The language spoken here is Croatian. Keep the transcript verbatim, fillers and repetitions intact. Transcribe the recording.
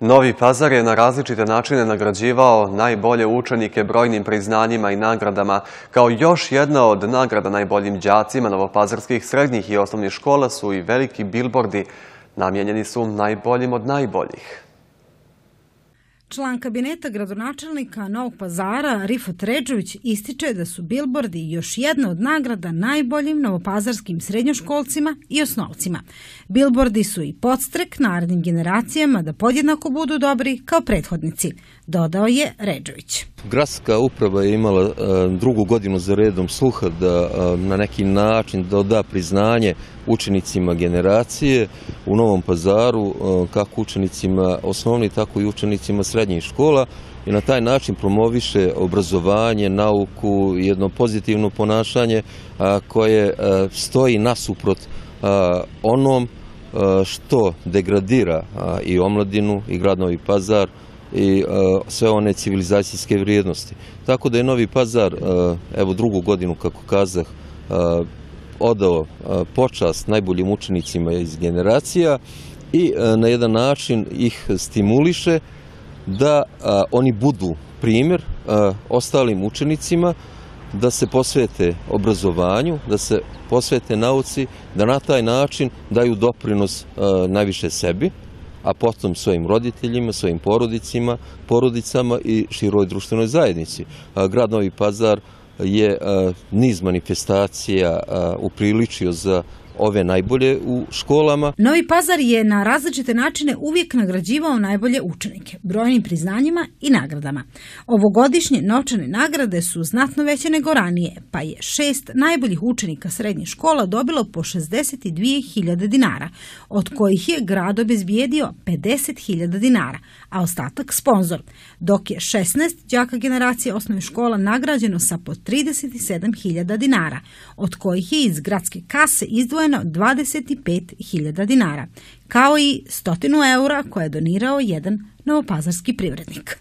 Novi Pazar je na različite načine nagrađivao najbolje učenike brojnim priznanjima i nagradama. Kao još jedna od nagrada najboljim đacima novopazarskih srednjih i osnovnih škola su i veliki bilbordi. Namijenjeni su najboljim od najboljih. Član kabineta gradonačelnika Novog Pazara Rifat Redžević ističe da su bilbordi još jedna od nagrada najboljim novopazarskim srednjoškolcima i osnovcima. Bilbordi su i podstrek narednim generacijama da podjednako budu dobri kao prethodnici, dodao je Redžević. Gradska uprava je imala drugu godinu za redom sluha da na neki način da priznanje učenicima generacije u Novom Pazaru, kako učenicima osnovnih, tako i učenicima srednjih škola, i na taj način promoviše obrazovanje, nauku, jedno pozitivno ponašanje koje stoji nasuprot onom što degradira i omladinu i grad Novi Pazar i sve one civilizacijske vrijednosti. Tako da je Novi Pazar, evo drugu godinu, kako kazah, odao počast najboljim učenicima iz generacija i na jedan način ih stimuliše da oni budu primjer ostalim učenicima, da se posvete obrazovanju, da se posvete nauci, da na taj način daju doprinos najviše sebi, a potom svojim roditeljima, svojim porodicima, porodicama i široj društvenoj zajednici. Grad Novi Pazar je niz manifestacija upriličio za ove najbolje u školama. Novi Pazar je na različite načine uvijek nagrađivao najbolje učenike, brojnim priznanjima i nagradama. Ovogodišnje novčane nagrade su znatno veće nego ranije, pa je šest najboljih učenika srednjih škola dobilo po šezdeset dvije hiljade dinara, od kojih je grad obezbijedio pedeset hiljada dinara, a ostatak sponzor, dok je šesnaest đaka generacije osnovnih škola nagrađeno sa po trideset sedam hiljada dinara, od kojih je iz gradske kase izdvojeno dvadeset pet hiljada dinara, kao i stotinu eura koje je donirao jedan novopazarski privrednik.